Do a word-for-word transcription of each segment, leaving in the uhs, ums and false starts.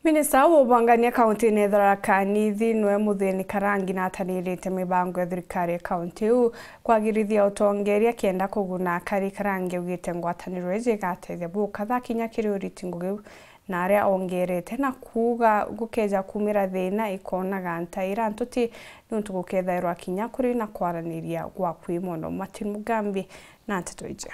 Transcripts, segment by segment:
Minista wa ubangania kaunti-ini ya Tharaka Nithi niwe Muthini Karangi natanirite mibango ya thirikari ya kaunti iu kwagirithia utongeria kenda kuguna akari. Karangi augite ngwataniro iji igatethia bukatha kinya kiri uriti ngugi na aria ongerete na kuuga gukeja kumira thina ikonaga ntaira ntuti niuntu gukethairwa kinya kuri na kwaraniria gwa kwi mono. Martin Mugambi na nteto iji.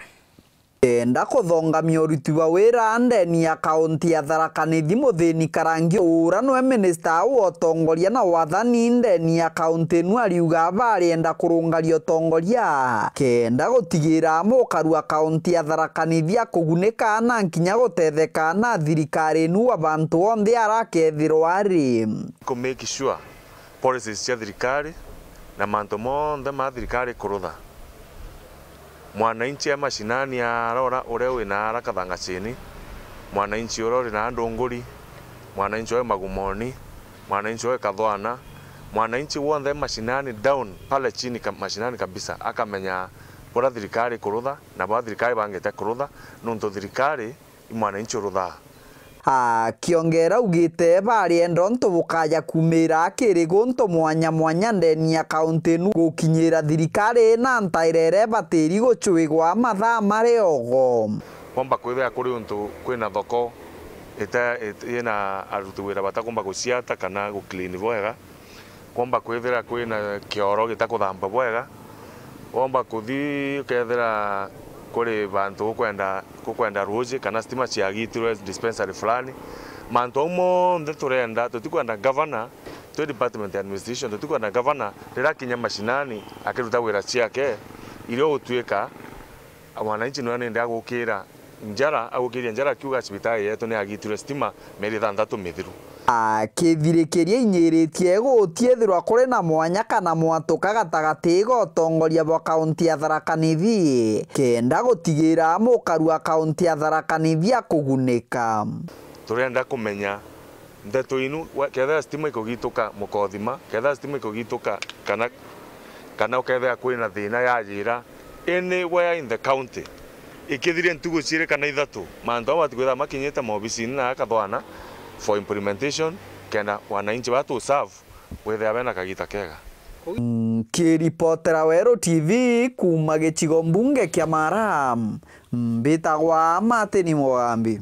Kenda kuthongamia uruti bwa wira ndeni ya kaunti ya Tharaka Nithi, Muthini Karangi ura niwe minista wa utongoria na wathani ndeni ya kaunti inu ariuga barienda kurungaria utongoria kenda gutigira amwe ukarua kaunti ya Tharaka Nithi akugunika na nkinya gutetheka na thirikari inu wa bantu onthe arakethirwa ari. Ku make sure policies cia thirikari na mantu monthe ma thirikari kurutha. Mwananchi e mashinani arora uria wina ara Kathangachini, mwananchi uria uri na Ndunguri, mwananchi uria wi Magumoni, mwananchi uria wi Kathwana, mwananchi wonthe e mashinani down pale chini ka-, mashinani kabisa, akamenya buria thirikari kurutha na buria thirikari bangite kurutha, nuntu thirikari i mwananchi uruthaa. Akiongera augite barienda untu bukaja kumira kiri guntu mwanya mwanya ndeni ya kaunti inu gukinyira thirikari na ntaira iria ibatiri gucwigwa mathaa mari ogo. Kwomba kwithira kuri untu kwina thoko ita-, it-, yina aruti wira batakumba guciata kana guclean bwega, kwomba kwithira kwina kioro gitakuthamba bwega, womba kuthi ukethira kuri bantu gukwenda, gukwenda ruuji kana stima ciagitirwe dispensary fulani. Mantu au monthe turenda, tutikwenda governor, twi department ya administration, tutikwenda governor riria akinya mashinani akiruta wira ciake, irio gutuika mwananchi niwe nindi agukira njara, agukiria njara akiuga cibitari yetu ni yagitirwe stima mieri ithanthatu mithiru. Akithirikiria inyiritie gutiethirwa kuri na mwanya kana mwatuka gatagati ga utongoria bwa kaunti ya Tharaka Nithi, kenda gutigira mukaru wa kaunti ya Tharaka Nithi akugunika. Turenda kumenya ndeto inu, we-, kethira stima ikugituka mukothima, kethira stima ikugituka kana, kana ukethira kwina thina yajira anywhere in the county, ikithiria ntugu ciiri kana ithatu, mantu amwe matikwithira makinyite maobisini na akathwana for implementation, kenda wananchi batu serve withira bena kagita kega. Nkiripotera Weru T V kuuma gicigo mbunge kia Mara, mbitagwa Martin Mugambi.